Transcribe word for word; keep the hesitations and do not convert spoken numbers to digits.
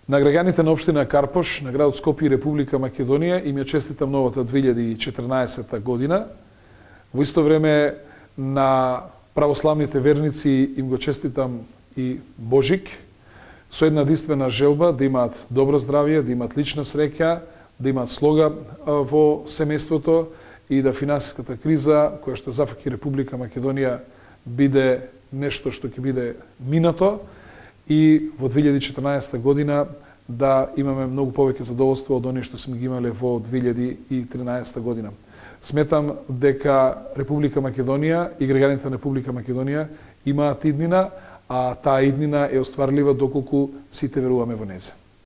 На граѓаните на општина Карпош, на градот Скопје и Република Македонија им ја честитам новата две илјади и четрнаесетта година. Во исто време на православните верници им го честитам и Божик, со една единствена желба да имаат добро здравје, да имаат лична среќа, да имаат слога во семејството и да финансиската криза која што зафаќа Република Македонија биде нешто што ќе биде минато и во две илјади и четрнаесетта година да имаме многу повеќе задоволство од оние што сме ги имале во две илјади и тринаесетта година. Сметам дека Република Македонија и граѓаните на Република Македонија имаат иднина, а таа иднина е остварлива доколку сите веруваме во неја.